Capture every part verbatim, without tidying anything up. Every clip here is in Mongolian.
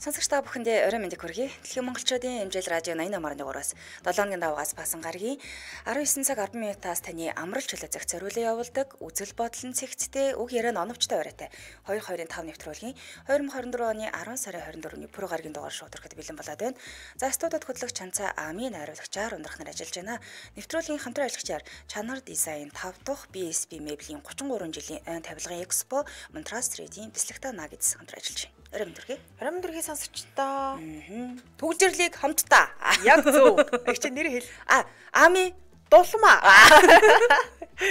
Сонсогч та бүхэндээ орой мэндийг хүргэе. Дэлхийн монголчуудын эмжил радио наян намарын дугаараас долооны даваагаас басан гарагийн арван девять цаг арван минутаас таны амралт чөлөө зах зориулан явуулдаг үзэл бодол нь цэгцтэй үг яриа оновчтой оройтой хоёр хоёрын тав нэвтрүүлгийн две тысячи двадцать оны арван сарын двадцать дөрөвний пүрэв гарагийн дугаар шууд ирэхэд бэлэн болоод байна. За студид хөтлөгч Чанцаа Амийн найруулагчаар ундрах нар ажиллаж байна. Нэвтрүүлгийн хамтран ажиллагчаар Чанар дизайн five дахь би эс би меблийн thirty-three жилийн айн тавилгын Экспо Монтрас Трейдийн Бэслэгтаа наа гэдс хамтран ажиллаж байна. Орой мэндүрхий. Орой мэндүрхий сонсогчдоо. Түгжирлийг хамтдаа. Яг зөв. Их чи нэр хэл. А, Ами дулмаа.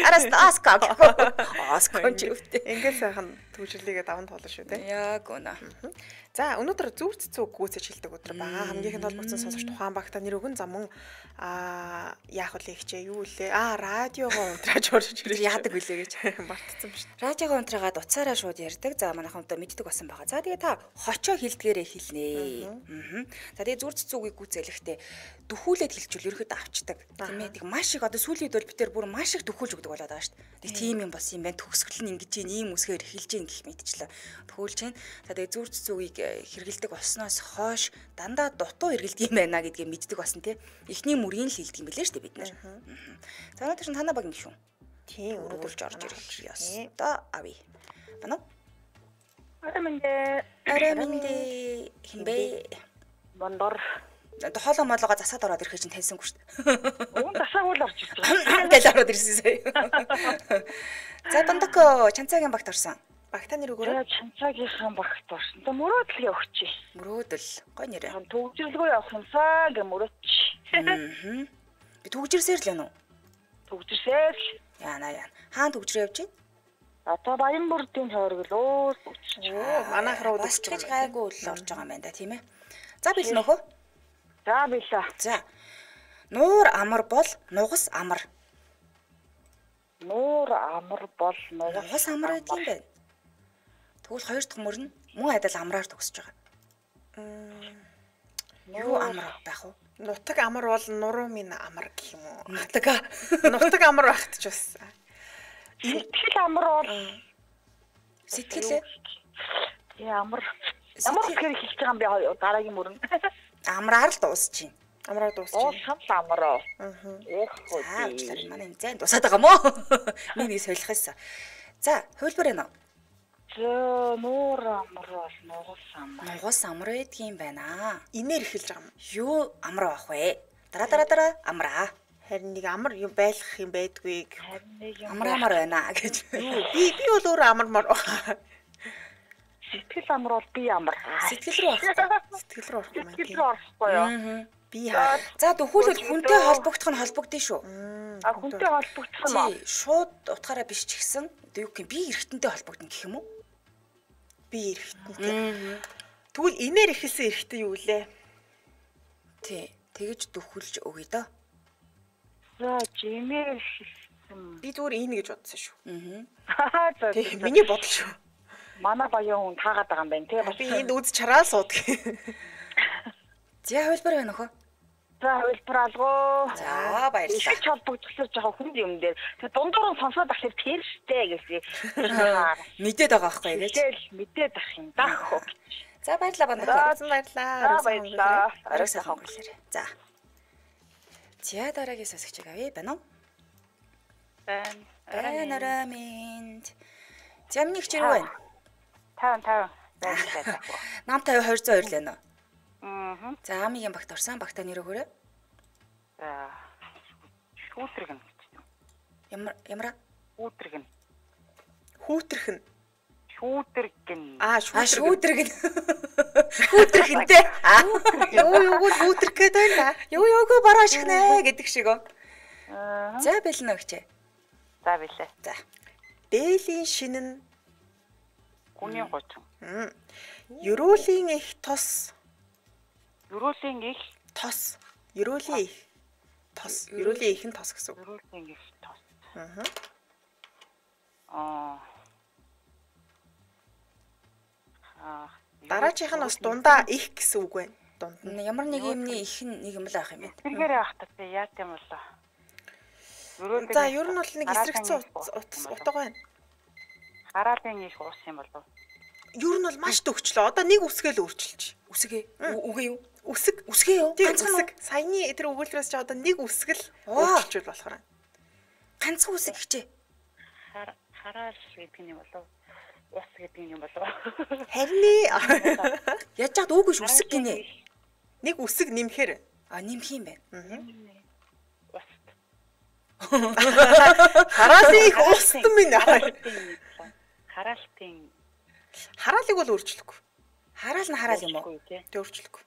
Араас аска. Аска ч үвтэй. Ингээд сайхан түгжирлийгээ даван туулна шүү дээ. Яг үнэ. За өнөөдөр зүв цэцүү гүйцэж хэлдэг өдөр байгаа. Хамгийн их толбогдсон сонсогч тухайн багта нэр өгөн замун а яах вэ хичээ юу лээ? А радиогоо унтрааж орж ирж яадаг үлээ гэж мартсан ба шүү. Радиогоо унтраагаад уцаараа шууд ярьдаг. За манайхан одоо мэддэг басан байгаа. За тэгээ та хочоо хилдгээрээ хэлнэ. Аа. За тэгээ зүр цэцүүгийг гүйцэлэхдээ дөхүүлээд хэлчихвэл ерөөд авчдаг. Тийм ээ. Тэг маш их одоо сүүлийн үед бол бид тээр бүр маш их дөхүүлж өгдөг болоод байгаа шүү дээ. Тэг тийм юм болсон юм байна. Төгсгөл нь ингэж ийм үсгээр хэлж гин гэх мэдчлээ. Төхүүлж гин. За тэгээ зүр цэцүүгийг хэрэгэлдэг болсноос хойш дандаа дутуу хэрэгэлдэг юм байна гэдгийг мэддэг басан тий. Эхний мөрийн л хэлдэг юм билээ шүү дээ бид нар. За өнөөдөр чинь танаа баг юм шүү. Тийм өнөөдөр орж ирэх яс. Одоо ави. Бана. Арамнэ. Арамнэ. Химбэ. Бондор. Одоо хоолоо моолгоо засаад ороод ирэхэд чинь таньсангүй шүү дээ. Уун засаагүй л орж ирж байгаа. Гэл ороод ирсэн сая. За Бондоко Чанцаагийн багт орсон. Багтаа нэр өгөөрэй. Чанцаагийнхаа багт орсон. Тэ мөрөөдөл явчих. Мөрөөдөл. Гой нэрэ. Төгжрөлгөө явах юмсаа гэ мөрөөч. Аа. Би төгжирсээр л байна уу? Төгжирсээр л. Яана яана. Хаан төгжрөө явж байна? Одоо Баянбүрдийн тойрог л өө. Оо манайх руу бас ч гэж гайгүй л орж байгаа юм байна да тийм ээ. За бил нөхөө. За билээ. За. Нуур амар бол нугас амар. Нуур амар бол нугас амар гэдэг юм байна. Тэгвэл хоёр дахь мөр нь мөн адил амраар төгсөж байгаа. Юу амар байх вэ? Нутаг амар бол нуруу минь амар гэх юм уу? Нутаг. Нутаг амар байхт ч бас. Сэтгэл амар бол сэтгэл ямар ямар хэрэг хэлж байгаа юм бэ дараагийн мөрөнд. Амраар л дуусч байна. Амраар дуусч байна. Оо шамс амраа. Аа. Эх хөө. Аа манай энэ зэн дусаад байгаа мó. Миний солих байсан. За, хөлбөр байна уу? Зөө нуур амар бол нугас амар. Нугас амар байдгийн байна. Инээр эхэлж байгаа юм. Юу амар бах вэ? Дараа дараа дараа амраа. Харин нэг амар юм байлгах юм байдгүй. Харин нэг юм амар амар байна гэж. Би би бол өөрөө амармаар байна. Сэтгэл амар бол би амар. Сэтгэл рүү орох. Сэтгэл рүү орох юм байна. Сэтгэл рүү орохгүй юу? Би хаа. За дөхүүлбэл хүнтэй холбогдох нь холбогдсон шүү. А хүнтэй холбогдох нь тий, шууд утгаараа биш ч гэсэн юу гэх юм би эргэтэнтэй холбогдно гэх юм уу? Би эргэтэнтэй. Тэгвэл инээр ихэлсэн эргэтэн юу лээ? Тий, тэгэж дөхүүлж өгье доо. За жимээр ихэлсэн. Би зүгээр ийн гэж бодсон шүү. Аа. За миний бодол шүү. Манай баян хүн таагаад байгаа юм байна тий. Би энд үз чараа суудаг. За хөлбөр байна өхөө. За хөлбөр алгоо. За баярлалаа. Их холбогдсоор жоохон хүнд юм дээр. Тэг дундуур нь сонсоод ахлаа тэр штэ гэсэн. Мэдээд байгаа байхгүй гэж. Тэгэл мэдээд ах юм даа хөө. За баярлалаа бандаа. За баярлалаа. Баярлалаа. Арай сайхан өнгөрүүлээрэй. За. За дараагийн сонсогч авъя байна уу? Байна. Байна араминд. Зямны хчээр байна. таван таван. Баярлалаа. Намтай two hundred two л байна уу? Аа. За амигийн багт орсон багтаа нэр өгөөрэй. За. Хүүтрэгэн гэж. Ямар ямар хүүтрэгэн. Хүүтрэх нь. Шүүтрэгэн. Аа шүүтрэгэн. Хүүтрэгэнтэй. Юу юу хүүтрэх гэдэг байна. Юу юугүй бараа шихнэ гэдэг шиг оо. Аа. За бэлнэ өгчээ. За билээ. За. Дээлийн шинэн гүний гочин. Ерөөлийн их тос. Ерөөлийн их тос. Ерөөлийн их тос. Ерөөлийн их нь тос гэсэн. Ерөөлийн их тос. Аа. Аа. Аа. Дараачих нь бас дундаа их гэсэн үг байна. Дунд нь ямар нэг юмний их нэг юм л авах юм байна. Тэргээр авах та яа гэм болоо. За ер нь бол нэг эсрэгцэн утга байна. Хараалын их уус юм болов. Ер нь бол маш төгчлөө. Одоо нэг үсгээл өөрчилж. Үсгээ. Үгээ юу? Үсэг. Үсгээ юу? Ганцхан үсэг. Саяны тэр өгүүлбэрээс ч одоо нэг үсэг л өөрчилж болохоор. Ганцхан үсэг гэжээ. Хараал гэдэг юм болов. Ус гэдэг юм болов. Харин яаж чад үгүй ш үсэг гинэ. Нэг үсэг нэмэхээр А нэмэх юм байна. Уст. Хараалын их устсан минь. Хараалтын Хараалыг бол өөрчлөхгүй. Хараал нь хараал юм уу? Тэ өөрчлөхгүй.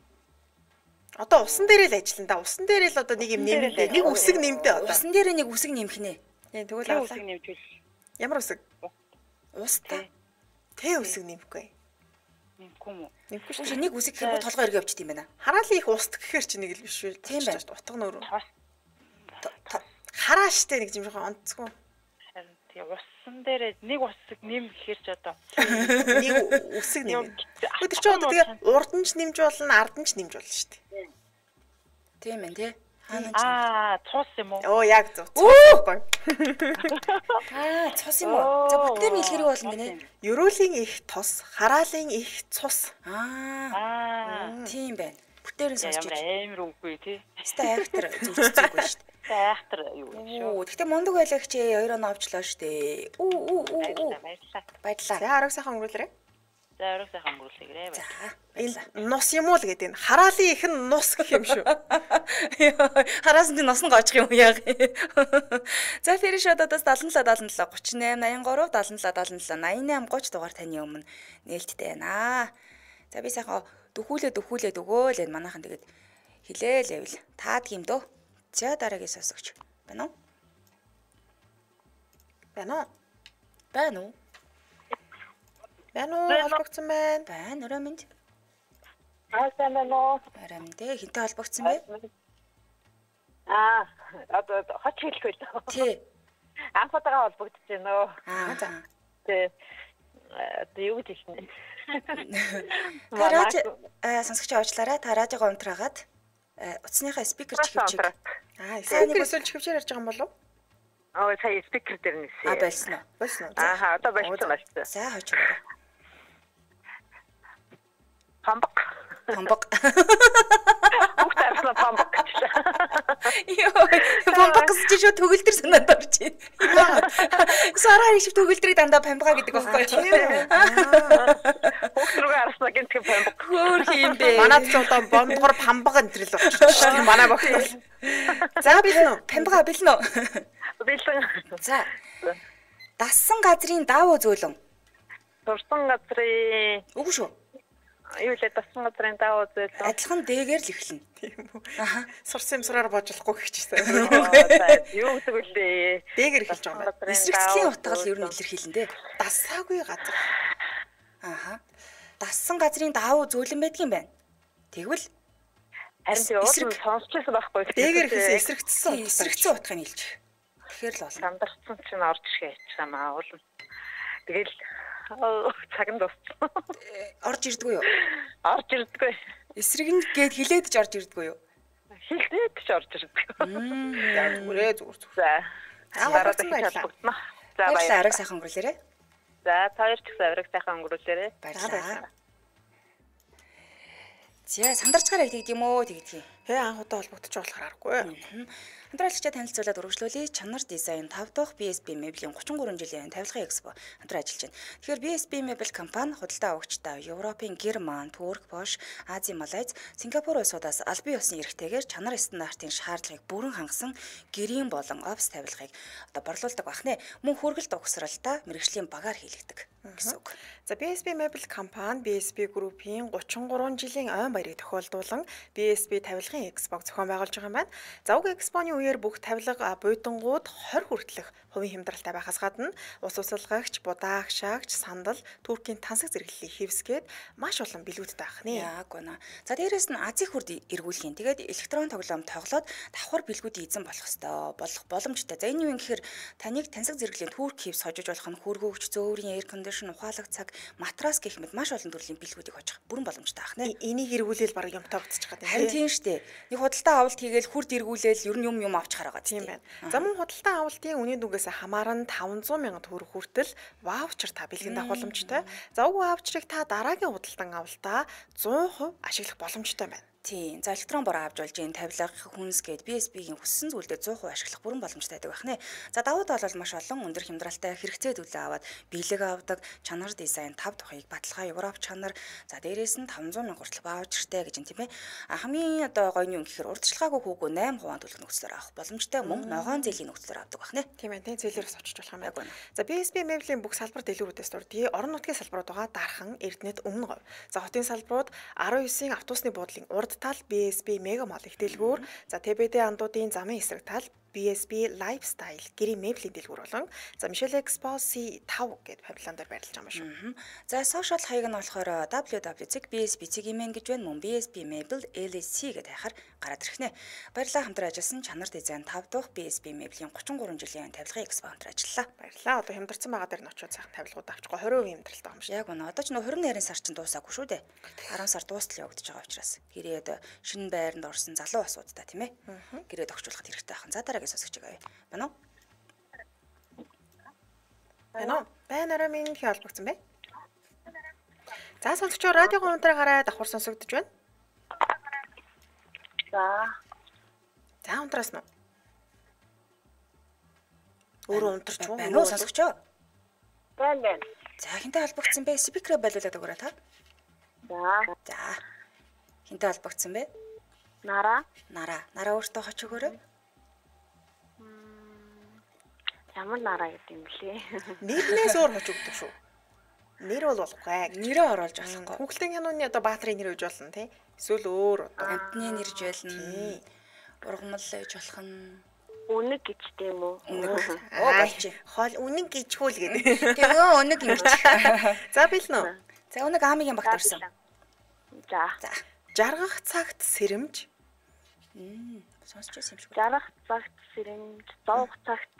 Одоо усан дээрээ л ажиллана да. Усан дээрээ л одоо нэг юм нэмдэ. Нэг үсэг нэмдэ одоо. Усан дээрээ нэг үсэг нэмэх нэ. Тийм тэгвэл үсэг нэмжүүл. Ямар үсэг? Устаа. Тэ үсэг нэмэхгүй. Нэмэхгүй юм уу? Нэмэхгүй Чи шүү. нэг үсэг гэхэд толгой эргээ явчихд юм байна. Хараалын их уст гэхээр чи нэг л биш үү? Тийм байна. Утга нөр. Тос. Харааштай нэг юм жоохон онцгүй. Харин тийм усан дээр нэг усыг нэм гэхэр ч одоо Нэг үсэг нэмэ. Өдөр чи одоо тэгээ урд нь ч нэмж болно, ард нь ч нэмж болно шүү дээ. Тийм ээ тий. аа цус юм уу? Оо яг зөв. Аа цус юм уу? За бүгдээр нь илгэрэг болно гинэ. Ерөөлийн их тос, хараалын их цус. Аа Аа тийм байна. Бүтээр нь сонсч. ямар амар үгүй тий. Хэвээ айхтар зүрцээгүй шүү дээ. Айхтар юу юм шүү. Оо гэхдээ мундаг байлаа чи хоёр оноо авчлаа шүү дээ. Үү үү үү үү. Баярлалаа. Баярлалаа. За арга сайхан өнгөрүүлээрэй. За өрөө сайхан өнгөрүүлээрэй. За. Энэ нус юм уу л гэдэг нь. Хараалын их нь нус гэх юм шүү. Хараас нь нос нь гоочих юм яг. За фэри шодоодоос seven seven seven eight eighty-three seventy-seven seventy-seven eighty-eight thirty дугаар таны өмнө нээлттэй байна. За би сайхан дөхүүлээ дөхүүлээд өгөөл энэ манайхан тэгээд хилээл явил. Таад юм дөө. За дараагийн сонсогч. Байна уу? Байна уу? Байна уу? Байна уу? Холбогдсон байна. Байна өрөө минь. Аа сайн байна уу? Арай минь дээ хинтээ холбогдсон бэ? Аа одоо хоч хэлэхгүй л. Тий. Анхудаага холбогдож байна уу? Аа за. Тэ одоо юу гэж хэлнэ? Та радио сонсогч авчлаарай. Та радиогоо унтраагаад утасныхаа спикер чихвчиг. Аа, спикер эсвэл чихвчээр ярьж байгаа юм болов? Аа сая спикер дээр нээсэн. А болсон уу? Болсон уу? Аа одоо болсон байна. За хойч өгөө. Памбак. Памбак. Бүгд арсан памбак. Йоо, памбак гэж шууд төгөлдөр санаад орж байна. Сараа их төгөлдрийг дандаа памбага гэдэг байхгүй юу? Бүгд рүү арсан гэнтэг памбак. Хөөр юм бэ. Манайд ч одоо бондгор памбага энтрэл болчихсон шүү дээ. Манай багтал. За бэлэн үү? Памбага бэлэн үү? Бэлэн. За. Дассан газрын даавуу зөөлөн. Сурсан газрын Үгүй шүү. юу л дассан газрын даавуу зөөлөн. Адилхан дээгэр л эхэлнэ. Тийм үү. Аха. Сурсан юмсраар боожлохгүй гэхчихсэн. Юу гэдэг үлээ. Дээгэр эхэлж байгаа юм байна. Эсрэгцлийн утга л ер нь илэрхийлэн дээ. Дасаагүй газар. Ааха. Дассан газрын даавуу зөөлөн байдаг юм байна. Тэгвэл харин тийм уул сонсчихсан байхгүй. Дээгэр эхэлсэн эсрэгцсэн. эсрэгцэн утгыг нийлж. Тэгэхээр л болно. Сандарсан чинь орж ирэх яцгаамаа уул. Тэгэл цаг нь дууссан. Орж ирдгүй юу? Орж ирдэггүй. Эсрэг нь гээд хилээд ч орж ирдгүй юу? Хилдээд ч орж ирдэггүй. За зүгээрээ зүгээр зүгээр. За. За Дараа баярлалаа. баярлалаа. За Баярлалаа. баярлалаа. Арга сайхан өнгөрүүлээрэй. За таяр ч гэсэн авираг сайхан өнгөрүүлээрэй. Баярлалаа. За сандарчгаараа тэгд юм уу тэгдэг юм. Хээ анхудаа холбогдож болохоор аргагүй. Хамтраалагчаа танилцуулаад үргэлжлүүлээ. Чанар дизайн five дахь би эс би Mebel-ийн thirty-three жилийн тавилгын экспо хамтран ажиллаж байна. Тэгэхээр би эс би Mebel компани худалдаа авагчтай Европын Герман, Турк, Польш, Ази, Малайз, Сингапур улсуудаас албан ёсны эрхтэйгээр чанар стандартын шаардлагыг бүрэн хангасан гэрийн болон офс тавилгыг одоо борлуулдаг бахнэ. Мөн хүргэлт угсралдаа мэргэжлийн багаар хийлэгдэг гэсэн үг. За би эс би Mebel компани би эс би группийн thirty-three жилийн ойн баярыг тохиолдуулан би эс би тавилгын экспог зохион байгуулж байгаа юм байна. За уг экспоны үеэр бүх тавилга буйдангууд twenty хүртэлх хувийн хямдралтай байхаас гадна ус усалгагч, будаа агшаагч, сандал, Туркийн тансаг зэрэглэлийг хэвсгээд маш олон билгүүдтэй байх нэ. Яг гоо. За дээрэс нь Ази хүрд эргүүлэх. Тэгээд электрон тоглоом тоглоод давхар билгүүдийг эзэн болох ёстой. Болох боломжтой. За энэ юу юм гэхээр таныг тансаг зэрэглэлийн Турк хэвс хожиж болох нь хөргөөгч, зөөврийн эйр кондишн, ухаалаг цаг, матрас гэх мэт маш олон төрлийн билгүүдийг хожих бүрэн боломжтой байх нэ. Энийг эргүүлээл баг юмтай буцчих гэдэг. Харин тийм штэ. Нэг худалдаа авалт хийгээл хурд эргүүлээл ер нь юм юм авч хараагаа тийм байна. За мөн худалдаа авалтын үнийн дүгээс хамааран таванзаа мянган төгрөг хүртэл ваучер та бэлгэн авах боломжтой. За уг ваучерыг та дараагийн худалдан авалтаа зуун хувь ашиглах боломжтой байна. Тийм. За электрон бороо авч болж энэ тавилга хүнс гээд би эс би-ийн хүссэн зүйлдээ зуун хувь ашиглах бүрэн боломжтой байдаг байна. За давуу тал бол маш олон өндөр хямдралтай хэрэгцээ төлөө аваад бэлэг авдаг, чанар дизайн тав тухайг баталгаа Европ чанар, за дээрээс нь таванзаа мянга хүртэл ваучертэй гэж юм тийм ээ. А хамгийн одоо гоё нь юм гэхээр урдчилгаагүй хүүгөө восемь хувиар төлөх нөхцлөөр авах боломжтой, мөн ногоон зээлийн нөхцлөөр авдаг байна. Тийм ээ, тийм зээлээрээс очиж болох юм байна. За би эс би Mebel-ийн бүх салбар дэлгүүрүүдээс дурдъя. Орон нутгийн салбарууд байгаа Дархан, Эрдэнэт, Өмнө говь. За хотын салбарууд арван девятын автобусны буудлын урд тал би эс би Mega Mall их дэлгүүр, за тэ бэ дэ андуудын замын эсрэг тал би эс би Lifestyle гэрийн Mebel-ийн дэлгүүр болон за Michelle Expo си five гэдэг павильон дээр байрлаж байгаа юм шүү. За сошиал хаяг нь болохоор дабл ю дабл ю дот би эс би цэгийн гэж байна. Мөн би эс би Mebel эл эс си гэдэг хайхаар гараад ирэх нэ. Баярлалаа хамтран ажилласан чанар дизайн тав дахь би эс би Mebel-ийн тридцать три жилийн тавилгын экспо хамтран ажиллалаа. Баярлалаа. Одоо хямдарсан байгаа дээр нь очиод сайхан тавилгууд авчихгоо twenty percent хямдралтай юм шиг. Яг үнэ. Одоо ч нөө twenty нэрийн сар чинь дуусаагүй шүү дээ. ten сар дуустал явагдаж байгаа учраас гэрээд шинэ байранд орсон залуу асуудаа тийм ээ. Гэрээд огцруулахад хэрэгтэй ахын. За дараагийн сонсогч байгаа. Байна уу? Байна уу? Байнараа минь хий олбогдсон бэ? За сонсогчоо радиогоо унтраа гараад давхар сонсогдож байна. За. За унтраас нь. Өөрөө унтарч уу? Байна уу сонсогчоо? Байна байна. За хинтээ холбогдсон бэ? Спикерээ байлуулаад өгөөрэй та. За. За. Хинтээ холбогдсон бэ? Нара. Нара. Нара өөртөө хоч өгөөрэй. Ямар нараа гэдэг юм блэ? Нэрнээс өөр хоч өгдөг шүү. Нэр бол болохгүй. Нэрээ оруулж болохгүй. Хүүхдийн хянууны одоо баатрын нэр өгж болно тий. Эсвэл өөр одоо амтны нэрж байлна. Ургамал ээж болох нь үнэг гэж тийм үү? Үнэг. Оо болчих. Хоол үнэг гэжхүүл гэдэг. Тэгээ үнэг ингэж. За билнэ үү? За үнэг аамигийн багт орсон. За. За. Жаргах цагт сэрэмж. Мм сонсч байсан юм шиг. Жаргах цагт сэрэмж, зовх цагт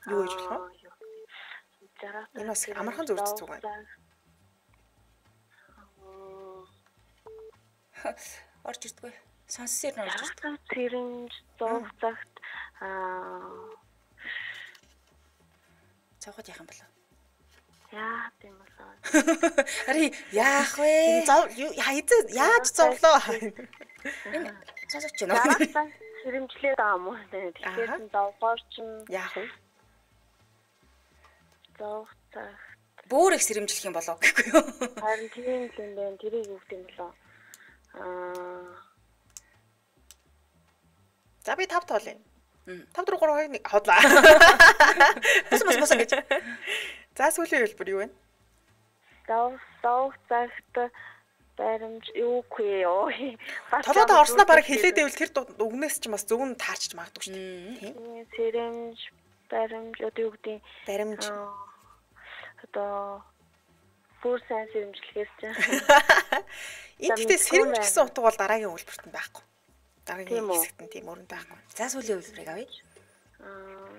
юу гэж болох вэ? Жаргах. Энэ бас амархан зөвлөж зүг байна. Орж ирдгүй. Сонссээр нь орж ирдэг. Сэрэмж, зовх цагт аа цаохот яах юм болов? яа тийм болоо. Ари яах вэ? Зов хайзаа яаж зовлоо? Энэ сонсож байна уу? Сэрэмжлээд байгаа юм уу? Тэгэхээр зовгоор чинь яах вэ? зовх цагт Бөөр их сэрэмжлэх юм болов гэхгүй юу? харин тийм л юм байна. Тэрийг юу гэдэг юм болоо? Аа За би тав тоолъё. тав дөрөв гурав хоёрыг хотлаа. Бус бус бус гэж. За сүүлийн хэлбэр юу вэ? зовх зовх цагт баримж юу хгүй ёо. Толгойд орсноо баг хэлээд байвал тэр үгнээс ч бас зөв нь таарч магадгүй шүү дээ. Тийм. Сэрэмж, баримж одоо юу гэдэг баримж одоо бүр сайн сэрэмжлэхээс чинь. Энд гэхдээ сэрэмж гэсэн утга бол дараагийн үйлбэрт нь байхгүй. Дараагийн хэсэгт нь тийм өрөнд байхгүй. За сүүлийн үйлбэрийг авъя. Аа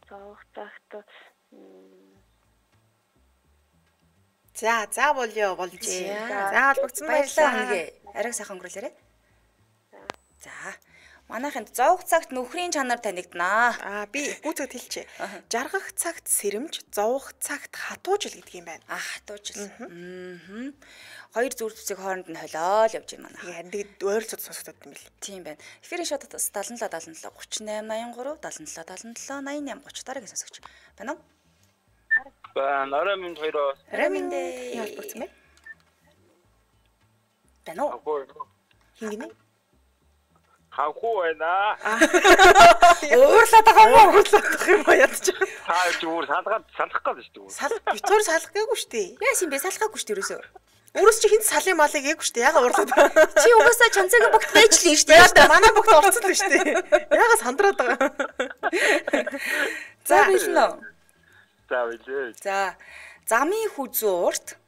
зовх цагт За за болё болжээ. За холбогдсон баярлалаа нэгэ. Ариг сайхан өнгөрүүлээрэй. За манайханд зовх цагт нөхрийн чанар танигднаа. Аа би гүцэд хэлчихье. Жаргах цагт сэрэмж, зовх цагт хатуужил гэдэг юм байна. Аа хатуужил. Аа. Хоёр зүрх зүсийг хооронд нь холиол явж байна манай. Харин тэгээд ойролцоод сонсогдод юм бэл. Тийм байна. Эфирийн шатад seventy seven seventy seven thirty-eight eighty-three seventy seven seventy seven eighty-seven thirty дараагийн сонсогч. Байна уу? Байна. Орой минь хоёроо. Раминдэ. Яаж болцсон бэ? Байна уу? Хингэний? Хавхуу байна. Уурлаад байгаа юм уу? Уурлаад байгаа юм уу ядчих. Та зүгээр салгаад салах гэж шүү дээ. Сал битүүр салах гээгүй шүү дээ. Яас юм бэ? Салхаагүй шүү дээ ерөөсөө. Өөрөөс чи хинт салын малыг гээгүй шүү дээ. Яга уурлаад байгаа. Чи угаасаа чанцагийн богт байж л юм шүү дээ. Яа да манай богт орцсон л шүү дээ. Яга сандраад байгаа. За билнэ. За билээ. За замын хүзүү урт.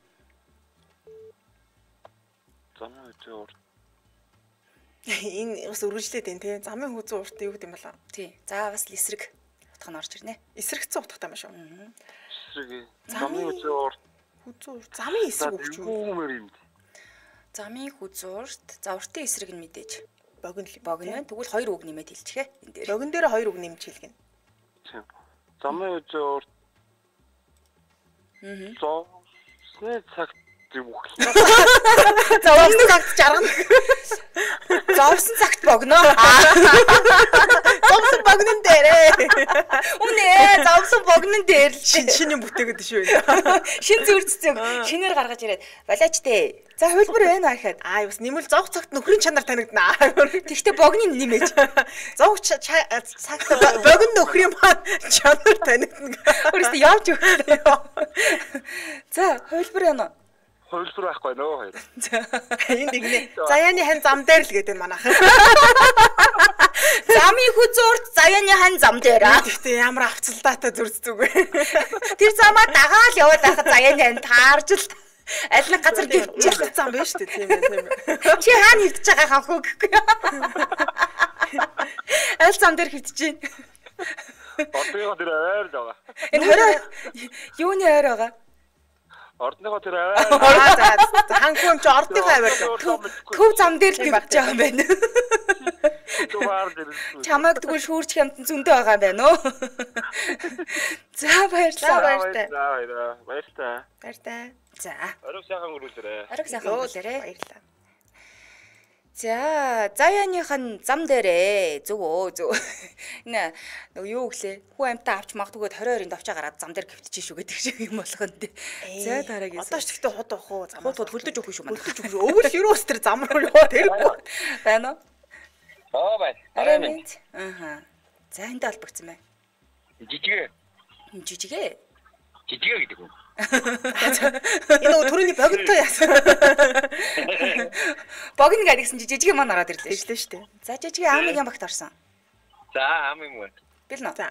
Замын хүзүү урт. Энэ бас өргөжлээд байна те. Замын хүзүү урт юу гэдэг юм болоо? Тий. За бас л эсрэг утга нь орж ирнэ. Эсрэгцэн утгатай юм шүү. Эсрэг. Замын хүзүү урт. Хүзүү урт. Замын эсрэг өгч юу? Хүүмэр юм. Замын хүзуурт завртын эсрэг нь мэдээж. Богино л. Богино. Тэгвэл хоёр үг нэмээд хэлчихэ. Энэ дээр. Богино дээр хоёр үг нэмж хэлгэнэ. Замын үзүүр. Аа. Зоо. Сны цагт бүх. Зовсон цагт жаргана. Зовсон цагт богино. Зовсон богинон дээрээ. Үнэ зовсон богинон дээр л Шин шинийн бүтээгээд шүү. шин зүрццэг шинээр гаргаж ирээд балаач дээ. За хөлбөр байна гэхэд Аа бас нэмэл зовх цагт нөхрийн чанар танигдана. тэгтээ богиныг нэмээж. Зовх цагт богино нөхрийн маань чанар танигдана. Өөрөөсөө явж өглөө. За хөлбөр байна. Хөлбөр байхгүй нөө хоёр. Энд игнэ. Заяаны хань зам дээр л гэдэг манайх. Замын хүзуурт заяаны хань зам дээр аа. Гэхдээ ямар авцалдаатай зүрц зүг. Тэр замаа дагаал яваад байхад заяаны хань таарж л аль нэг газар Жил зам байна шүү дээ тийм ээ тийм ээ. чи хаана хөвдөж байгаа хавхуу гэхгүй. Аль зам дээр хөвдөж чинь. Ордныхоо тэр аваар л байгаа. Энэ хорой юуны ойр байгаа? Ордныхоо тэр аваар. Аа за ханхуум чи ордныхоо аваар. Төв зам дээр л хөвдөж байгаа юм байна. Туваар дээр. Чамайг тэгвэл шүүрч хямтан зөндөө байгаа юм байна уу? За баярлалаа. Баяртай. За баяраа. Баяртай. Баяртай. За. Орог сайхан өрүүлээрэй. Арга сайхан өгүүлээрэй. Баярлалаа. За, заяаныхан зам дээрээ зөв өө зөв. Нэ нөгөө юу гэлээ? Хүү амтаа авч магтгүйгээд тwenty-two орын давчаа гараад зам дээр гівтчихэж шүү гэдэг шиг юм болох нь тий. За дараагийн. Одоо ч гэхдээ хот авах уу? Хот хот хөлдөж өгөх шүү манай. Хөлдөж өгөх шүү. Өвөл юу өстер зам руу яваад хэрэггүй. Байна уу? Аа бай. Арай мэд. Ааха. За энд албагдсан байна. Жижигэ. Жижигэ. Жижигэ гэдэг үү? Энэ түрүүний богинтой яасан. Богино гэдгсэн чи жижигэ маань ороод ирлээ шүү. Тэжлээ шүү дээ. За жижигэ аамыг юм багт орсон. За ам юм уу? Бил нөө. За.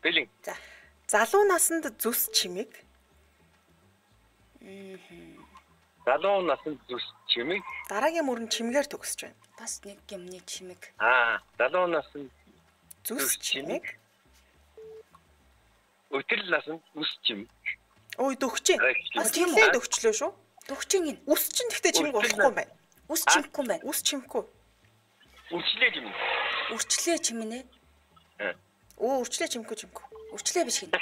Бэлэн. За. Залуу насанд зүс чимэг. Залуу насанд зүс чимэг. Дараагийн мөрөн чимгээр төгсөж байна. Бас нэг юмны чимэг. Аа, залуу насанд Зүс чимэг. өтөл насанд үс чимэг. Ой дөгчээ. А, тийм үү? Тэглээ дөгчлөө шүү. Төгчин гин. Ус чинь гэхдээ чимэг болохгүй юм байна. Ус чимэхгүй юм байна. Ус чимэхгүй. Үрчлээ чимэг. Үрчлээ чимэнэ. Өө үрчлээ чимэхгүй чимэхгүй. Үрчлээ биш гин.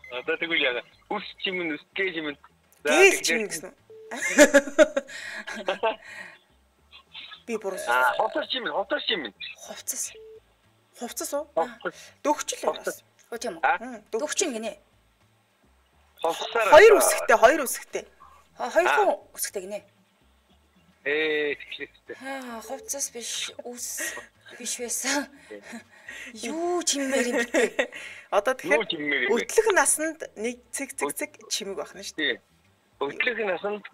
Одоо тэгвэл яа. Үс чимэн, үсгээ чимэн. Гээл чимэг гэсэн. Би буруу. Аа, хотор чимэн, хотор чимэн. Хувцас. Хувцас уу? Дөгчлөө бас. Оо тийм үү? Аа, Төгчин гинэ. Хувцасаар. Хоёр үсгтэй, хоёр үсгтэй. Хоёр хүн өсгтэй гинэ. Ээ, тэгшлээ. Аа, хувцас биш, үс биш байсан. Юу чимээр юм бэ? Одоо Юу тэгэхээр чимэг вэ? өдлөх насанд нэг цэг цэг цэг чимэг байна шүү дээ. Тий. Өглөөх насанд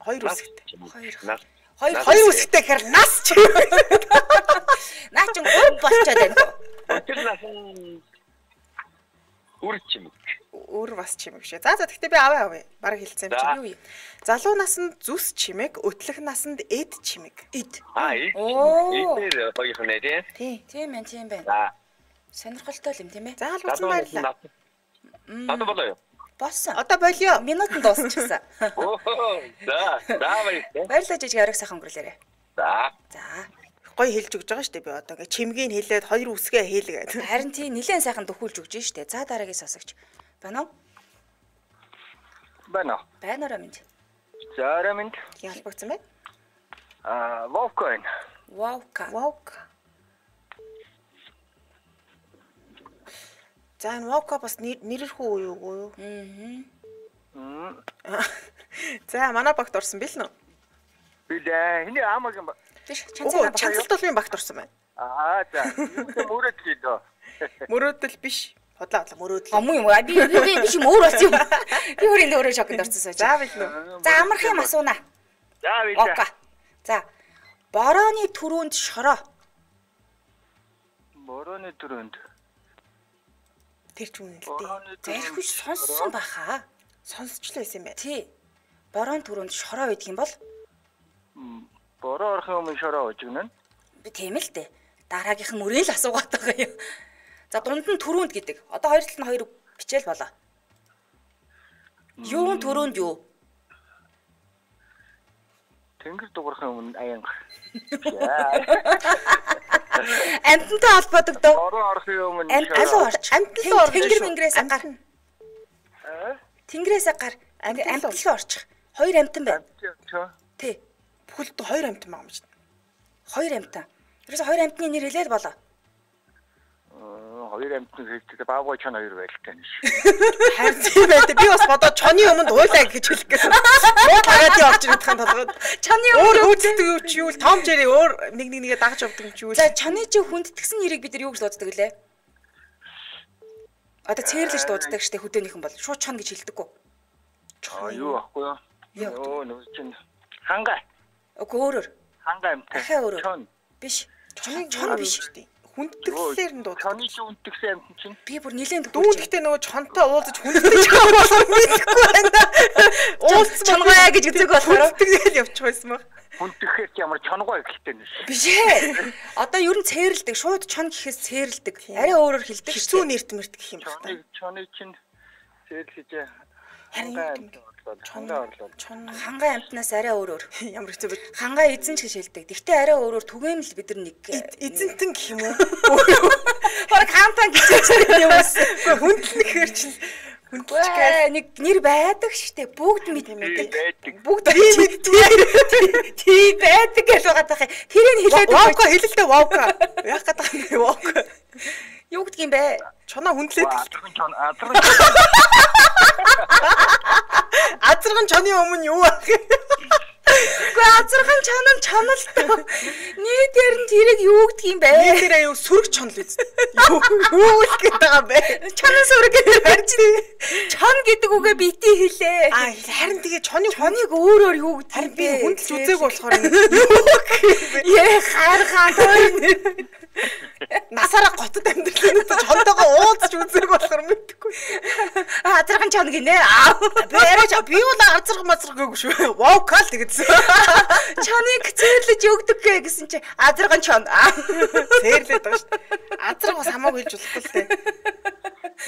Хоёр үсгтэй. Хоёр. нас. Хоёр Хоёр үсгтэй гэхээр нас чимэг. наа чин гоо болчоод байна. Өтөл насанд үр чимэг. Өөр бас чимэг шээ. За за тэгтээ би аваа авъя. Бараг хэлсэн юм За. чинь. Юу юм? Залуу насанд зүс чимэг, өдлөх насанд эд чимэг. Эд. Аа, ээ. Оо. Ээ, хоёрхан нэ тий. Тий, тийм ээ, тийм байна. За. Сонирхолтой юм тийм ээ. За албац баярлалаа. Одоо болоо юу? Боссон. Одоо болио. Минутанд дуусчихсан. Оо. За, за баярлалаа. Баярлалаа жижиг арга сайхан өнгөрүүлээрэй. За. За. Гоё хэлж өгч байгаа шүү дээ би одоо ингээ чимгийг хэлээд хоёр үсгээ хэлгээд. Харин тий нилээн сайхан дөхүүлж өгч штэ. За дараагийн сонсогч. Байна уу? Байна. Байна уу минь. За, рамэнд. Ялбагцсан байна. Аа, Вовкоин. Ваука. Ваука. За энэ ваука бас нэрэрхүү уу юу? Аа. За манай багт орсон бил нөө. Билээ. Хиний аамаг юм ба. Биш Үгүй чанцаа чанцалт толын багт орсон байна. Аа, за. Юу мөрөд лээ. Мөрөөдөл биш. Хотлоо хотлоо мөрөөдөл. Амуу юм аа. Би би биш юм өөр болсон юм. Би өөрийн өөрөө шокнд орсон сууж. За бил нөө. За амарх юм асууна. За, билээ. Ока. За. Борооны түрүүнд шороо. Борооны төрөнд. Тэр ч үнэн л Борооны дээ. Зархиш сонссон баха. Сонсчлаа байсан юм байна. Тий. Борооны түрүүнд шороо байдаг юм бол Бороо орох юм шороо өгнө. би тийм л дээ. Дараагийнх нь мөрөө л асуугаад байгаа юм. За дунд нь түрүүнд гэдэг. Одоо хоёр талд нь хоёр бичээл болоо. Юун түрүүнд юу? Тэнгэр дуурахын өмнө аянга. Амтантай холбоодог дөө. Орон орохын өмнө Амтан орч. Амтан орж тэнгэр мингрээс гар. Тэнгэрээс гар. Амтан руу орчих. Хоёр амтан байна. Тий. Бүхэлд хоёр амтан байгаа юм чинь. Хоёр амтан. Ерөөсө хоёр амтны нэр хэлээд болоо. Хоёр амтны хэлдэг баавгой чон хоёр байлтай нь шүү. Харин тийм байдаг. Би бас бодоод чоны өмнө уйлаа гэж хэлэх гэсэн. Муу паради орж ирэх юм толгойд. Чоны өөр хөөцдөг юу ч юу Том Жери өөр нэг нэг нэгэ дагаж явдаг юм чи юу. За чоны чи хүндтгсэн нэрийг бид нар юу гэж дууддаг лээ? Одоо цээрлэж дууддаг штэ хөдөөнийхэн бол шууд чон гэж хэлдэггүй. Аа юу ахгүй юу? Оо нөө чин ханга. Үгүй өөрөөр. Ханга амтай. Ахаа өөрөөр. Чон. Биш. Чоны чон биш штэ. Хүндтгэлээр нь дууддаг. Чоны чи хүндтгсэн амт чинь. Би бүр нилээн дүүн гэхдээ нөгөө чонтой уулзаж хүндтгэж байгаа болохоор мэдхгүй байна. Уулзсан чонгоя гэж үзэг болохоор хүндтгэл явчих байсан баг. Хүндтгэхээр чи ямар чонгой гэлтэй нь шүү. Биш ээ. Одоо ер нь цээрлдэг. Шууд чон гэхээс цээрлдэг. Арай өөрөөр хэлдэг. Хэцүү нэрт мэрт гэх юм байна. Чоны чоны чинь цээрлэж харин чонгаа орлоо. Чон хангаа амтнаас арай өөрөөр. Ямар хэцүү бэ? Хангаа эзэн ч гэж хэлдэг. Гэхдээ арай өөрөөр түгээмэл бид нар нэг эзэнтэн гэх юм уу? Бараг хаантан гэж хэлсэн юм уу? Хүндлэх хэр чинь хүндчгээ нэг нэр байдаг штэ. Бүгд мэддэг. Бүгд мэддэг. Тий байдаг гэж байгаа тах. Тэрийг хэлээд ваука хэлэлтэй ваука. Яг гадаг юм ваука. Юу гэдэг юм бэ? Чоноо хүндлээд. Азарган чон азарган. Азарган чоны өмнө юу ах? Гэхдээ азарган чон нь чоналтай. Нийтээр нь тэрийг юу гэдэг юм бэ? Нийтээрээ юу сүрэг чонл биз. Юу юу л гэдэг байгаа бэ? Чонын сүрэг гэдэг харж. Чон гэдэг үгээ бити хэлээ. Аа харин тэгээ чоны чоныг өөрөөр юу гэдэг харин би хүндэлж үзээг болохоор юу яа хайрхан тоо. Насаараа готод амьдралын өдөө чонтойгоо уулзч үзээг болохоор мэдхгүй. Азарган чон гинэ. Би яриач би бол азарган мазрах гэгүй шүү. Ваукал тэгсэн. Чоныг цээрлэж өгдөг гэсэн чи азарган чон. Цээрлээд байгаа шүү. Азарган бас хамаагүй хэлж болохгүй л дээ.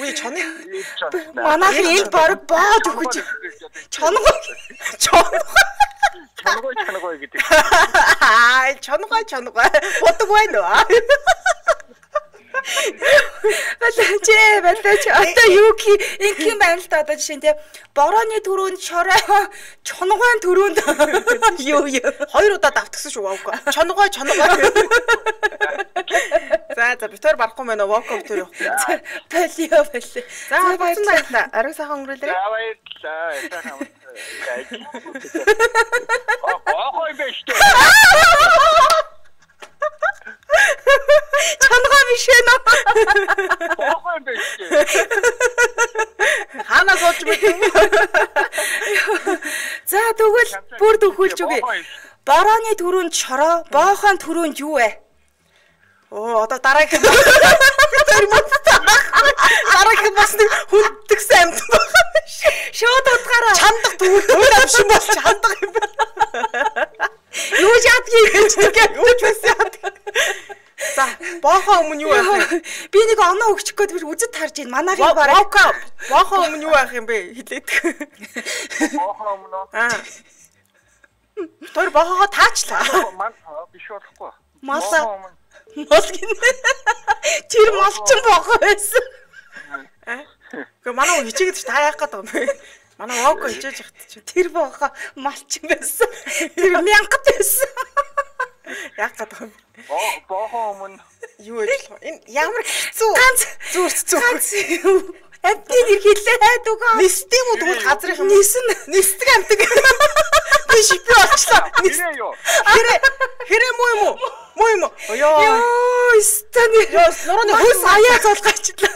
Үгүй чоныг манайх энд баг боод өгч чонгой чонгой чонгой чонгой гэдэг. Аа чонгой чонгой бодог байна уу? Балаач балаач одоо юу гэх юм байна л да одоо жишээ нь те борооны төрөнд шороо чонгойн төрөнд юу юу хоёр удаа давтгсан шүү ваука чонгой чонгой за за битээр барахгүй байна ваука битээр явах балио балио за баярлалаа ариг сайхан өнгөрүүлээ за баярлалаа сайхан оо хой бэштэй чонгой биш ээ нөө оо бэштэй хана сууж мэдв за тэгвэл бүр төгөлж үгүй борооны төрөнд шороо боохын төрөнд юу вэ оо одоо дараагийн дараагийн бас хүндтгсэн амт байна шууд утгаараа чандах төгөл өөр амшин бол чандах юм байна юу яадгийг гэж юу ч байсан яадаг за боохоо өмнө юу байх вэ би нэг оноо өгчих гээд би үзэд харж байна манайхын бараа боохоо боохоо өмнө юу байх юм бэ хэлээд боохоо өмнө аа тэр боохоо таачлаа ман биш болохгүй мал мал гинэ тэр малчин боохоо байсан Гэхдээ манай хичээгээд ч та яах гээд байгаа юм бэ? Манай ваука хичээж явахт чи тэр боохоо малчин байсан. Тэр мянгат байсан. Яах гээд байгаа юм? Боо боохоо өмнө юу ээж болох вэ? Энэ ямар хэцүү. Ганц зүрц зүрх. Амтны нэр хэлээд үгүй. Нисдэм үү тэгвэл газрын юм. Нисэн. Нисдэг амтэг. Би шипи болчлаа. нэрээ юу? Хэрэ хэрэ муу юм уу? Муу юм уу? Ёо. Ёо, стани. Ёо, нурууны хөөс аяа золгочлаа.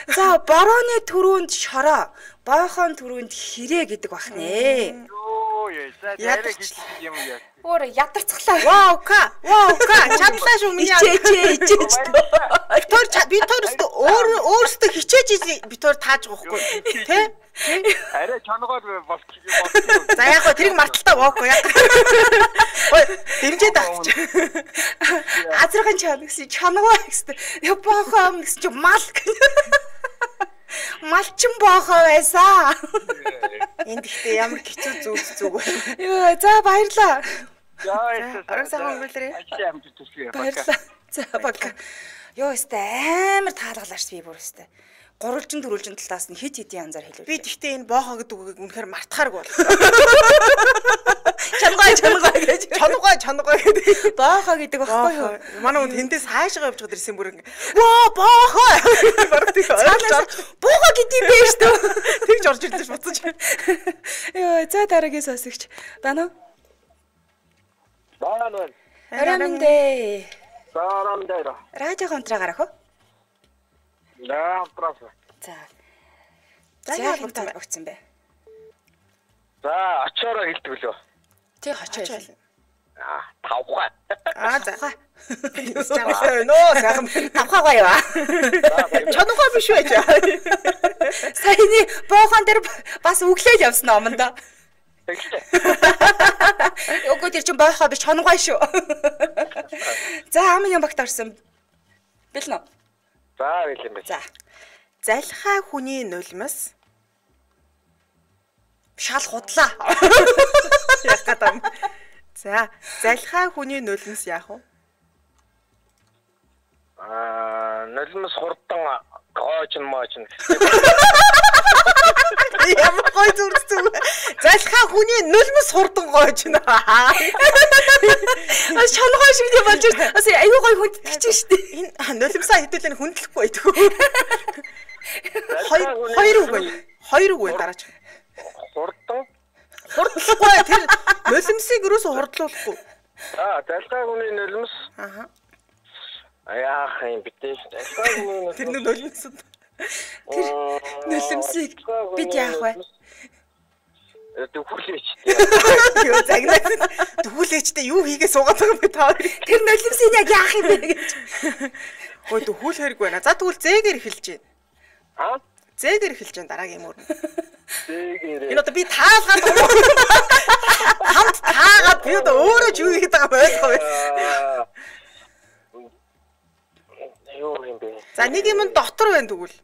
За, борооны төрөнд шороо, боохын төрөнд хэрэ гэдэг бахнэ. Ёо, яа, яг хэлсэн юм яа. Өөр ядарцглаа. Ваука, ваука, чадлаа шүү миний. Ичээ, ичээ. Тэр би төрөстө өөр өөртөө хичээж би тэр тааж байгаа хгүй. Тэ? Арай чангаар болчих. За яг гоо тэрийг марталтаа воохгүй яг. Ой, дэмжээ таач. Азрагын чан гэсэн чангаа гэсэн. Яа боохоо гэсэн чи мал. Малчин боохоо байсан. Энд ихтэй ямар хэцүү зүг зүг байна. Йоо, за баярлаа. Яа, Орон сайхан өнгөрүүлээрэй. Баярлаа. За баг. Йоо, өстэй амар таалгалаач би бүр өстэй. Гурвалжин дөрвөлжин талаас нь хит хитийн янзаар хэлвэ. Би тэгтээ энэ боохоо гэдэг үгийг үнэхээр мартахааргүй бол. Чангаа чангаа гэж. Чангаа чангаа гэдэг. Боохоо гэдэг баггүй юу? Манай хүн тэндээс хаашгаа явж гадар ирсэн бүр ингэ. Воо боохоо. Бараг тийм ойлгож боохоо гэдэг юм биш үү? Тэгж орж ирлээ буцаж. Йоо, за дараагийн сонсогч. Байна уу? Байна уу? Арамдэ. Сарамдэ. Радио контра гарах уу? Да, правда. За. За Яг яг тань өгцөн бэ. За, очоороо хэлдэг лөө. Тэг очоо. Аа, тавхаа. Аа за. Нөө сайхан Тавхаа гоё ба. чангаа биш байж. Саяны боохон дээр бас өглөөл явсан омондоо. Өгөө тэр чин боохоо биш чонгой шүү. За ам юм багт орсон. Бэлнэ. За, хэлэн бэ. За. Залхай хүний нулимс Шал худлаа. яг гадам. За, залхай хүний нулимс яах вэ? Аа, нулимс хурдан гоож моож. Ямар гой зүрх зүг. Залхай хүний нулимс хурдан гоож нэ. А чонгой шиг юм болж байна. Бас аюу гой хүндэж штэ. Энэ нулимсаа хэдүүлэн хүндлэхгүй байдгүй. Хоёр хоёр үг байна. Хоёр үг байна дараач. Хурдан. Хурдлахгүй тэр нулимсыг юусоо хурдлуулахгүй. Аа, залхай хүний нулимс. Аха. Аяах юм битээ. Залхай хүний Тэр нулимс. Тэр нулимсыг бид яах вэ? Дөхүүлээч. Юу загнаад дөхүүлээчтэй юу хийгээ суугаад байгаа юм бэ та хоёр? Тэр нулимсыг яг яах юм бэ гэж. Хөөе дөхүүл хэрэггүй байна. За тэгвэл зээгээр эхэлж байна. Аа? Зээгээр эхэлж байна дараагийн мөр. Зээгээр. Энэ одоо би таалгаад хамт таагаад би одоо өөрөө ч юу хийгээд байгаа ойлгоо байна. Юу юм бэ? За нэг юм дотор байна тэгвэл.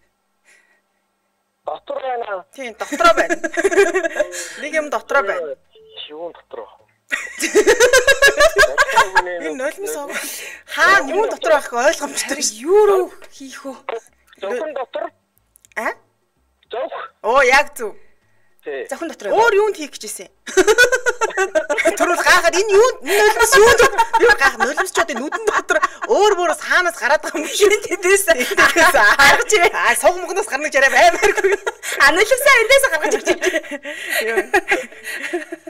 Дотор байна. Тийм дотроо байна. Нэг юм дотроо байна. Юу дотор вэ? Энэ нулимс хаа юу дотор байх ойлгомжтой. Юу руу хийх вэ? Зөвхөн дотор. А? Зөвх. Оо яг зөв. Тий. Зөвхөн дотор. Өөр юунд хийх гэжсэн? Төрөл гахаад энэ юу нулимс юу юу гах нулимсчуудын нүдэн дотор өөр өөрөөс хаанаас гараад байгаа юм шиг тэдээс харж аа сог мөгнөөс гарна гэж яриа баймааргүй. А нулимсаа эндээс гаргаж ирж байна.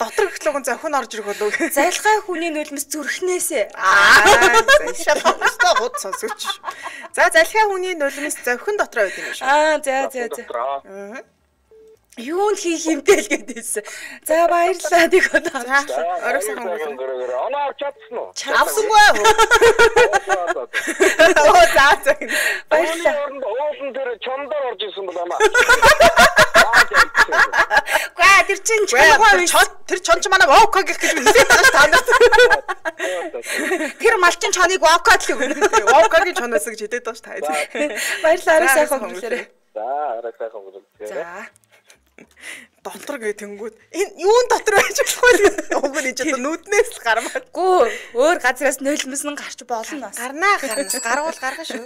Дотор гэхлүүгэн зөвхөн орж ирэх болов. Залхай хүний нулимс зүрхнээсээ. Аа шалхалтай хот сонсогч. За залхай хүний нулимс зөвхөн дотроо байдаг юм шүү. Аа за за за. Аа. Юунд хийх юмтэй л гэдээсэн. За баярлалаа тийг одоо. Орой сайхан өнгөрөөрэй. Оноо чадсан уу? Авсангүй. Оо за за. Баярлалаа. Уулын дээр чондор орж исэн бол амаа. Гаа тэр чин чонгой биш. Тэр чонч манай вовка гэх гэж хэлээд байгаа ш танаас. Тэр малчин чоныг вовкад л өгнө. Вовкагийн чоноос гэж хэлээд байгаа ш та. Баярлалаа. Орой сайхан өнгөрөөрэй. За, орой сайхан өнгөрөөрэй. За. Дотор гэ тэнгүүд энэ юун дотор байж болохгүй уг нь ч одоо нүднээс л гармаад Гүү өөр газраас нулимс нь гарч болно бас. гарнаа гарнаас гарвал гаргана шүү.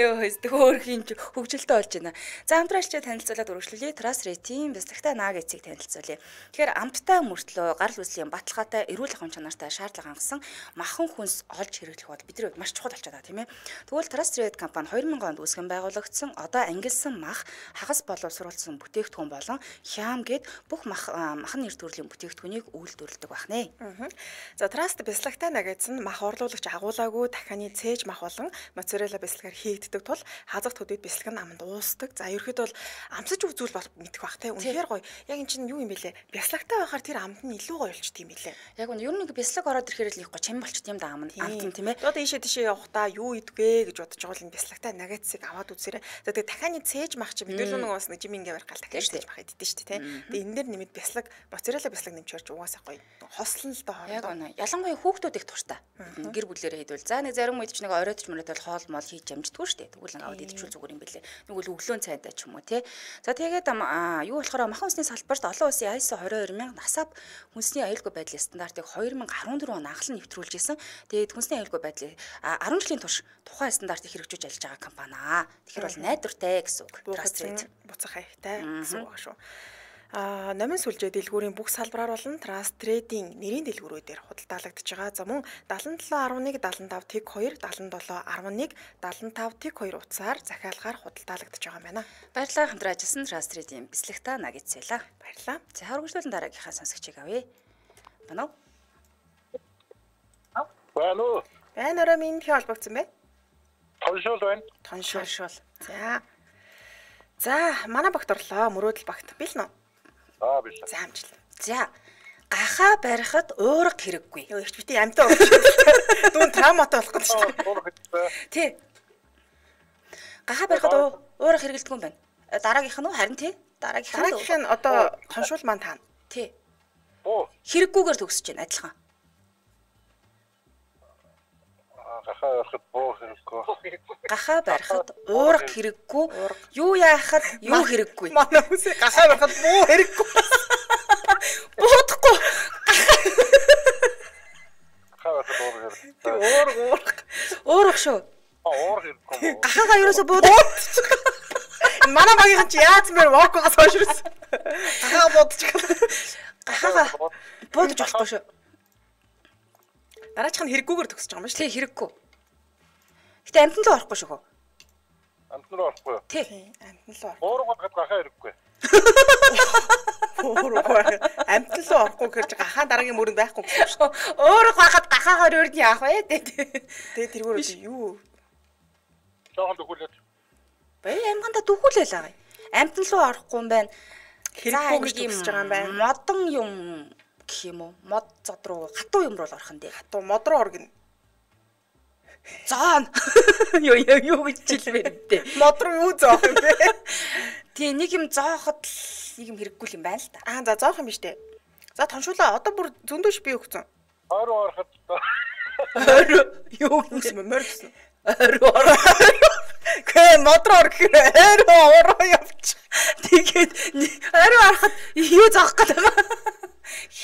Йоо хэсдэг өөрхийн хөгжилтэй болж байна. За хамтрaalчид танилцуулаад үргэлжлүүлье. Трасритийн бэлтгэгтэй нааг эцгийг танилцуулъя. Тэгэхээр амттай мөртлөө гарал үүслийн баталгаатай эрүүл ахуйн чанартай шаардлага хангасан махан хүнс олж хэрэглэх бол бидний хувьд маш чухал болчиход байгаа тийм ээ. Тэгвэл Трасрит компани хоёр мянган онд үүсгэн байгуулагдсан одоо ангилсан мах хагас боловсруулсан бүтээгдэхүүн болон хям гэд бүх махан нэр төрлийн бүтээгдэхүүнийг үйлдвэрлэдэг байна. За Trust бяцлагтай нагайц нь мах орлуулагч агуулаагүй дахианы цээж мах болон моцарелла бяцлагаар хийгддэг тул хазах төдийд бяцлаг нь аманд уусдаг. За ерөөхдөө бол амсаж үзүүл бол мэдэх бах те. Үнэхээр гоё. Яг эн чинь юу юм бэлээ? Бяцлагтай байхаар тэр амд нь илүү гоё болчт юм бэлээ. Яг нь ер нь бяцлаг ороод ирэхээр л их гоё чам болчт юм да амд амт тийм ээ. Одоо ийшээ тийшээ явахдаа юу идвэ гэж бодож байгаа л энэ бяцлагтай нагайцыг аваад үзээрэй. За тэгээ дахианы цээж мах чи бид л нэг бас нэг жимингээ барих гал дахианы цээж мах иддэн шүү дээ те. Тэгээ энэ дээр нэмээд бяслаг, моцарелла бяслаг нэмчээрч угаасаа гоё. Хослон л доо хоолой. Яг үнэ. Ялангуяа хүүхдүүд их туртай. Гэр бүлээрээ хийдвэл за нэг зарим үед ч нэг оройтч мөрөдөл хоол мол хийж амждаггүй шүү дээ. Тэгвэл нэг аваад идчихвэл зүгээр юм бэлээ. Нэгвэл өглөөн цайдаа ч юм уу тий. За тэгээд юу болохоор махан усны салбарт олон улсын ай эс о двадцать two мянга насап хүнсний аюулгүй байдлын стандартыг two thousand fourteen он анхлан нэвтрүүлж исэн. Тэгээд хүнсний аюулгүй байдлыг ten жилийн турш тухайн стандартыг хэрэгжүүлж ажиллаж байгаа компани аа. Тэгэхээр бол найдвартай гэсэн үг. Trust буцах хайхтай гэсэн үг шүү. А номын сүлжээ дэлгүүрийн бүх салбараар болон Trust Trade-ийн нэрийн дэлгүүрүүдээр худалдаалагдж байгаа. За мөн seventy-seven eleven seventy-five T two seventy-seven eleven seventy-five T two утсаар захиалгаар худалдаалагдж байгаа юм байна. Баярлалаа хамтран ажилласан Trust Trade-ийн бэлсэлгтаа нагицлаа. Баярлалаа. За хөргөжлүүлэн дараагийнхаа сонсогчийг авъя. Байна уу? Байна уу? Байна орой минь хий холбогдсон бэ? Тоншуул байна. Тоншуул. За. За, манай багт орлоо. Мөрөөдөл багт. Бил нөө? Аа, бил. За, амжилт. За. Гахаа барихад уурга хэрэггүй. Йоо, ихч бити амтаа өгч. Дүүн травматай болох гэж байна. Тий. Гахаа барихад уурга хэрэгэлдэг юм байна. Дараагийнх нь уу? Харин тий. Дараагийнх нь. Дараагийнх нь одоо тоншуул маань таана. Тий. Оо. Хэрэггүйгээр төгсөж байна адилхан. Гахаа барихад боо хэрэггүй. Гахаа барихад уурга хэрэггүй. Юу яахад юу хэрэггүй. Манай хүсээ гахаа барихад буу хэрэггүй. Буудахгүй. Гахаа барихад боо хэрэггүй. Уурга уурга. Уурга шүү. Аа, уурга хэрэггүй. Гахаагаа ерөөсө буудаг. Манай багийнхан ч яаж мэр вокгоос хойшрос. Гахаа буудчих. Гахаагаа буудаж болохгүй шүү. Дараачих нь хэрэггүйгээр төгсөж байгаа юм шүү. Тий, хэрэггүй. Гэтэ амтан руу орохгүй шүү хөө. Амтан руу орохгүй. Тий. Амтан руу. Уурга гад гахаа хэрэггүй. Уурга. Амтан руу орохгүй гэж гахаа дараагийн мөрөнд байхгүй гэсэн шүү. Уурга байхад гахаагаар өрд яах вэ? Тэгээ тэргээр юу? Жохон төгүүлээд. Бай амганда дөхүүлээ л аа. Амтан руу орохгүй юм байна. Хэрэггүйгээр төгсөж байгаа юм байна. Модон юм гэх юм уу? Мод зод руу хатуу юм руу орох нь дээ. Хатуу мод руу оргино. Зоон. Юу юу юу гэж хэлвэр дээ. Мод руу юу зоох юм бэ? Тий, нэг юм зооход нэг юм хэрэггүй юм байна л та. Аа, за зоох юм биш дээ. За тоншуулаа одоо бүр зөндөөш би өгцөн. Ороо ороход Ороо юу гэсэн мөр гэсэн. Ороо ороо. Гэ мод руу орох ороо ороо явчих. Тэгээд ороо ороход юу зоох гэдэг вэ?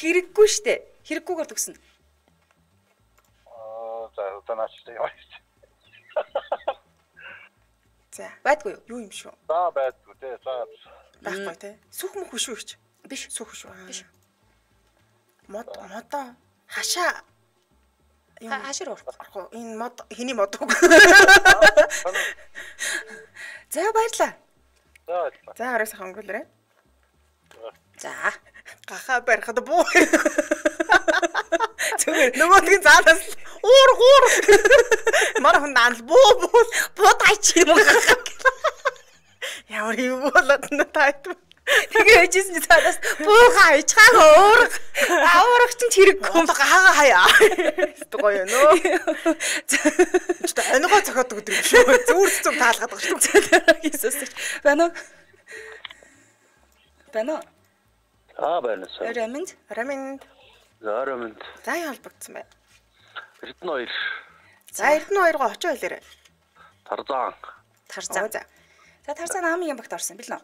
Хэрэггүй штэ. Хэрэггүйгээр төгснө. Аа, за одоо наачлаа яваа. За, Байдгүй юу? юу юм шүү? За байдгүй те. За. Байхгүй те. Сүх мөх шүү гэж. Биш. Сүх шүү. Биш. Мод модоо хашаа Хашир орох. орох. Энэ мод хэний мод үг. За баярлаа. За. За арай сайхан өнгөлөрөө. За. Гахаа барихад буу. Зүгээр нөгөөдгийн заалаас уур уур. Манай хүн наал буу буу Буудаач юм уу? ямар юу болоод нь тайт. Тэгээ хэжсэн чи цаадаас буугаа ичхааг уурах. Аурах чинь хэрэггүй юм хаагаа хаяа. Гоё нөө. Чи та ангаа цохоод өгдөг юм шүү. Зүгээр зүг таалгаад байгаа шүү. Иесус. Бано. Бано. Аа байна сая. Раминд. Раминд. За раминд. За яа холбогдсон бай. Эрдэнэ хоёр. За Эрдэнэ хоёроо очоо хэлээрэй. Тарзан. Тарзан. За. За тарзан намын багт орсон бил нөө.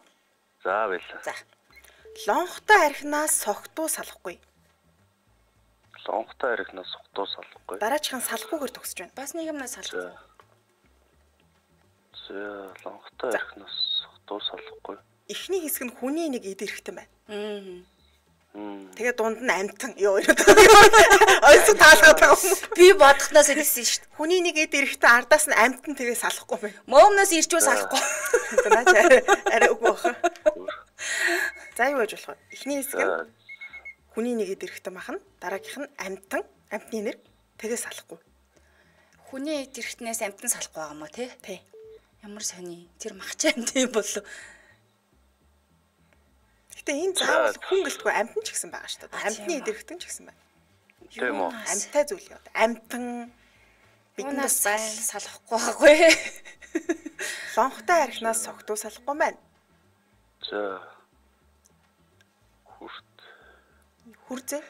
За байла. За. Лонхтой архинаас согтуу салахгүй. Лонхтой архинаас согтуу салахгүй. Дараачихын салахгүйгээр төгсөж байна. Бас нэг юмнаас салах. За лонхтой архинаас согтуу салахгүй. Эхний хэсэг нь хүний нэг эд эрэхтэн байна. Аа. Тэгээ дунд нь амтан. Йоо. Ойс таалгаад байгаа юм. Би бодохноос ирсэн шүү дээ. Хүний нэг эд эрэхтэн ардаас нь амтан тэгээ салахгүй байна. Моомноос ирчүү салахгүй. Наач арай үгүй баха. За юу гэж болох вэ? Эхний хэсэг нь хүний нэг эд эрэхтэн махна. Дараагийнх нь амтан, амтны нэр тэгээ салахгүй. Хүний эд эрэхтнээс амтан салахгүй байгаа юм уу те? Тий. Ямар сони. Тэр махчаа амтан юм болов. Гэтэ энэ заавал хүн гэлтгүй амтан ч гэсэн байгаа шүү дээ. Амтны эд эрэхтэн ч гэсэн байна. Тийм үү? Амтай зүйл яа. Амтан биднээс салахгүй байгаагүй. Лонхтой архинаас согтуу салахгүй байна. За. Хүрзээ.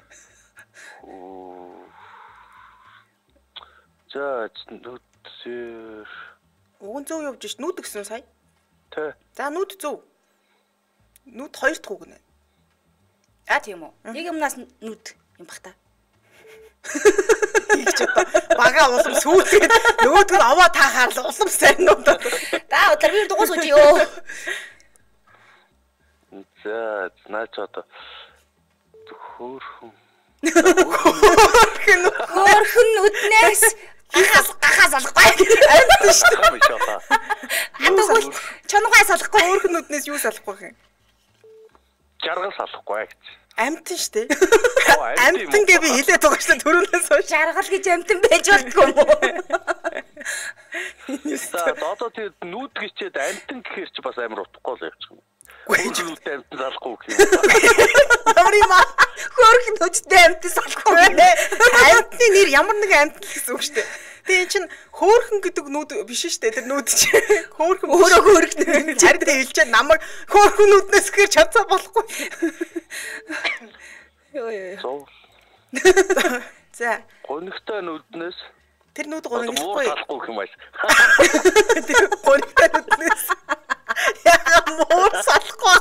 За нүдсээр. Уг нь зөв явж ш нүд гэсэн сая. Тэ. За нүд зөв. Нүд хоёр дахь үг нэ. А тийм үү. Нэг юмнаас нүд юм бах та. Ийч одоо бага улам сүйтгэд нөгөөд нь аваа таахаар л улам сайн нууд. Та өдөр би дугуй сууж ёо. За наач одоо хөөрхөн. Хөөрхөн нүднээс гахаас гахаас алахгүй. Амт шүү дээ. Атгуул чонгой салахгүй. Хөөрхөн нүднээс юу салахгүй юм? Жаргал салахгүй гэж. Амтэн шүү дээ. Амтэн гэ би хэлээд байгаа шүү дээ төрөөнөөс хойш. Жаргал гэж амтэн байж болтгүй юм уу? За одоо тийм нүд гिचээд амтэн гэхэр чи бас амар утгагүй л явчих юм. Хөөрхөн нүдтэй амтэн салахгүй гэх юм. Ямар юм аа? Хөөрхөн нүдтэй амтэн салахгүй. Амтны нэр ямар нэгэн амтэн гэсэн үг шүү дээ. Тэгээ эн чинь хөөрхөн гэдэг нүд биш шүү дээ. Тэр нүд чи хөөрхөн өөрөө хөөрхөн. Харин тэ хэлчихэд намайг хөөрхөн нүднээс гэр чадсаа болохгүй. Йоо ёо. За. Гонигтай нүднээс тэр нүд гониггүй. Салахгүй гэх юм байна. Тэр гонигтай нүднээс яа муур салахгүй.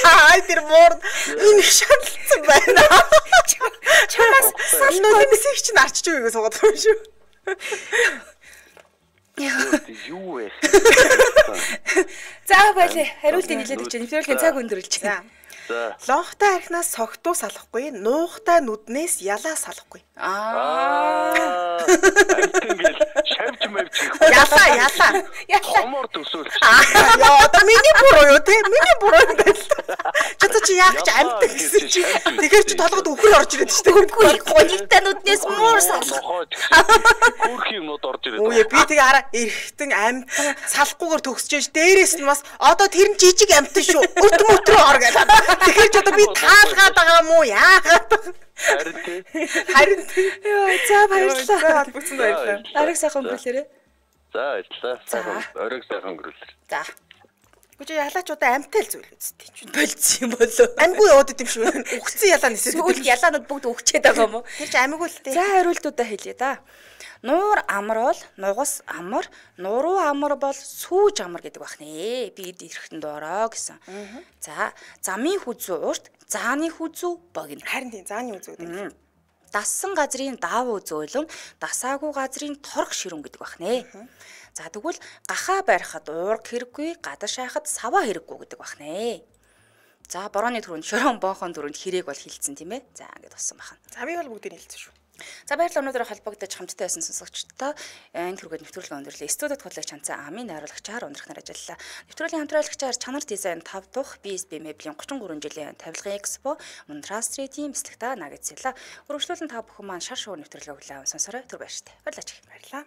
Аа тэр муур энэ шатлцсан байна. Чамаас салахгүй мессеж чинь арчиж өгөө суугаад байгаа юм шүү. Юу вэ? За байлээ. Хариултыг хэлээд өгч нэвтрүүлгийн цаг өндөрлж байна. За. Лонхтой архинаас согтуу салахгүй, нуухтай нүднээс ялаа салахгүй. Аа. Ингээл шавж мавж хийх. Ялаа, ялаа. Хомор төсөөлч. Яа, одоо миний буруу юу те? Миний буруу юм байна л. Чата чи яах гэж амтдаг гэсэн чи. Тэгэхээр чи толгойд өхөр орж ирээд шүү дээ. Үгүй гонигтай нүднээс муур салах. Хөөрх юмнууд орж ирээд. Үе би тэгээ хараа эргэтэн амтан салахгүйгээр төгсөж ш. Дээрээс нь бас одоо тэр нь жижиг амтан шүү. Өт мөтрөө ор гэдэг. Тэгэхээр ч одоо би таалгаад байгаа юм уу? Яагаад? Харин тий. Харин Йоо, за баярлалаа. Бүцэн баярлалаа. Ариг сайхан өнгөрүүлээрэ. За баярлалаа. Сайхан оройг сайхан өнгөрүүлээ. За. Гүж ялаачудаа амтай л зүйл үсттэй ч. Болцсон юм болоо. Амьгүй яваад идэм шүү. Үхсэн ялаа нисээд. Сүүл ялаанууд бүгд өгчээд байгаа юм уу? Тэр чи амьгүй л дээ. За хариултуудаа хэлье да. Нуур амар бол нугас амар, нуруу амар бол сүүж амар гэдэг байх нэ. Би ирэхтэн доороо гэсэн. За, замын хүзүү урт, зааны хүзүү богино. Харин тийм зааны үзүүд юм. Дассан газрын даавуу зөөлөн, дасаагүй газрын торх ширүүн гэдэг байх нэ. За тэгвэл гахаа барихад уург хэрэггүй, гадаш хайхад саваа хэрэггүй гэдэг байх нэ. За борооны түрүүнд шорон боохон түрүүнд хэрээг бол хилцсэн тийм ээ. За ингэж болсон байна. За би бол бүгдийг хэлсэн шүү. За баярлалаа өнөөдөр холбогдож хамтдаа байсан сонсогчдоо энэ түргээд нэвтрүүлгээ өндөрлөө. Студид хотлогч Чанцаа Амын найруулагчаар ундрахнаар ажиллалаа. Нэвтрүүлгийн хамтраалагчаар Чанар дизайн тав дахь би эс би меблийн гурван гурван жилийн тавилгын экспо Мунтра стритийн бэлтгэгдэ нагацлаа. Өргөжлүүлэн та бүхэн маань шар шоу нэвтрүүлгээ хүлээн сонсорой. Түр баяртай. Баярлалаа. Баярлалаа.